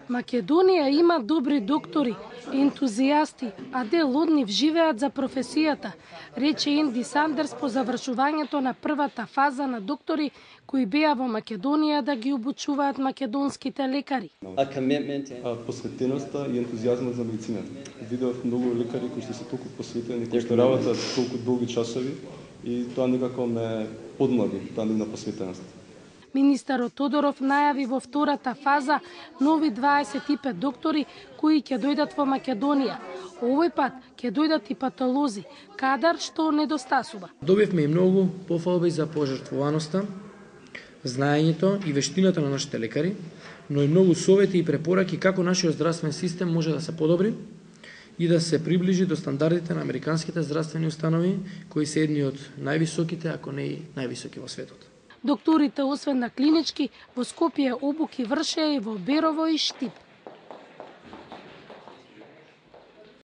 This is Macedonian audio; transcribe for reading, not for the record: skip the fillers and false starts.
Македонија има добри доктори, ентузијасти, а дел од нив живеат за професијата, рече Енди Сандерс по завршувањето на првата фаза на доктори кои беа во Македонија да ги обучуваат македонските лекари. Посветеноста и ентузијазмот за медицината. Видов многу лекари кои што се толку посветени, кои што работат толку долги часови и тоа некако ме подмлади, таа нивна посветеност. Министерот Тодоров најави во втората фаза нови 25 доктори кои ќе дојдат во Македонија. Овој пат ќе дојдат и патолози, кадар што недостасува. Добивме и многу пофалби за пожртвуваноста, знаењето и вештината на нашите лекари, но и многу совети и препораки како нашиот здравствен систем може да се подобри и да се приближи до стандардите на американските здравствени установи, кои се едни од највисоките, ако не и највисоки во светот. Докторите, освен на клинички, во Скопје обуки вршеа и во Берово и Штип.